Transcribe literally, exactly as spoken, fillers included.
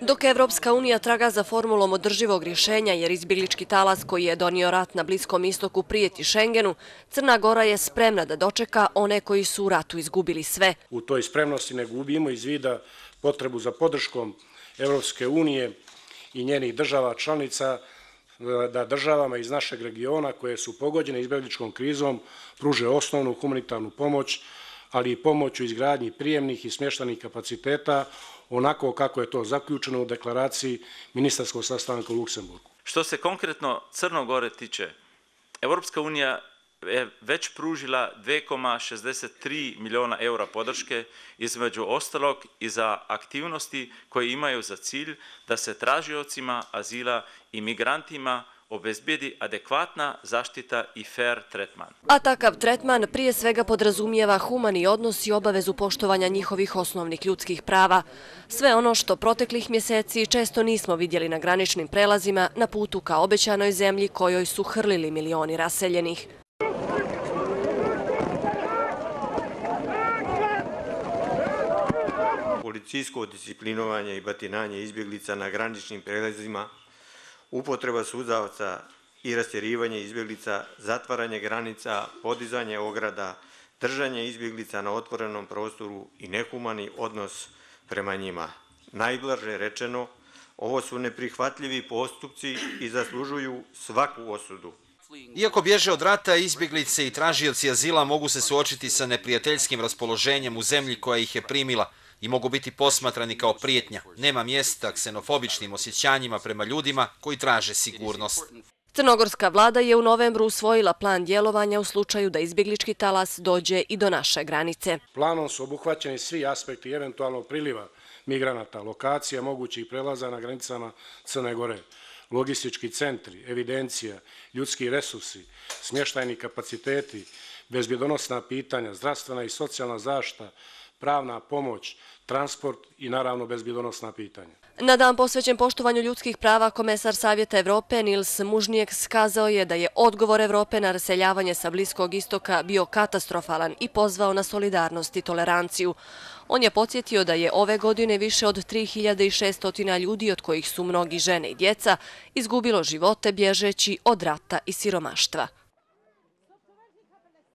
Dok Evropska unija traga za formulom održivog rješenja jer izbjeglički talas koji je donio rat na Bliskom istoku prijeti Šengenu, Crna Gora je spremna da dočeka one koji su u ratu izgubili sve. U toj spremnosti ne gubimo iz vida potrebu za podrškom Evropske unije i njenih država članica da državama iz našeg regiona koje su pogođene izbjegličkom krizom pruže osnovnu humanitarnu pomoć, ali i pomoć u izgradnji prijemnih i smještajnih kapaciteta onako kako je to zaključeno u deklaraciji ministarskog sastanka u Luksemburgu. Što se konkretno Crne Gore tiče, Evropska unija je već pružila dvije zarez šezdeset tri milijuna eura podrške, između ostalog i za aktivnosti koje imaju za cilj da se tražiocima azila i migrantima obezbedi adekvatna zaštita i fair tretman. A takav tretman prije svega podrazumijeva humani odnos i obavezu poštovanja njihovih osnovnih ljudskih prava. Sve ono što proteklih mjeseci često nismo vidjeli na graničnim prelazima na putu ka obećanoj zemlji kojoj su hrlili milioni raseljenih. Policijsko disciplinovanje i batinanje izbjeglica na graničnim prelazima, upotreba suzavaca i rastjerivanje izbjeglica, zatvaranje granica, podizanje ograda, držanje izbjeglica na otvorenom prostoru i nehumani odnos prema njima. Najblaže rečeno, ovo su neprihvatljivi postupci i zaslužuju svaku osudu. Iako bježe od rata, izbjeglice i tražioci azila mogu se suočiti sa neprijateljskim raspoloženjem u zemlji koja ih je primila i mogu biti posmatrani kao prijetnja. Nema mjesta ksenofobičnim osjećanjima prema ljudima koji traže sigurnost. Crnogorska vlada je u novembru usvojila plan djelovanja u slučaju da izbjeglički talas dođe i do naše granice. Planom su obuhvaćeni svi aspekti eventualnog priliva migranata, lokacija mogućih prelaza na granicama Crne Gore, logistički centri, evidencija, ljudski resursi, smještajni kapaciteti, bezbjedonosna pitanja, zdravstvena i socijalna zaštita, pravna pomoć, transport i naravno bezbjedonosna pitanja. Na dan posvećen poštovanju ljudskih prava, komesar Savjeta Evrope Nils Mužnijeks kazao je da je odgovor Evrope na raseljavanje sa Bliskog istoka bio katastrofalan i pozvao na solidarnost i toleranciju. On je podsjetio da je ove godine više od tri hiljade šesto ljudi, od kojih su mnogi žene i djeca, izgubilo živote bježeći od rata i siromaštva.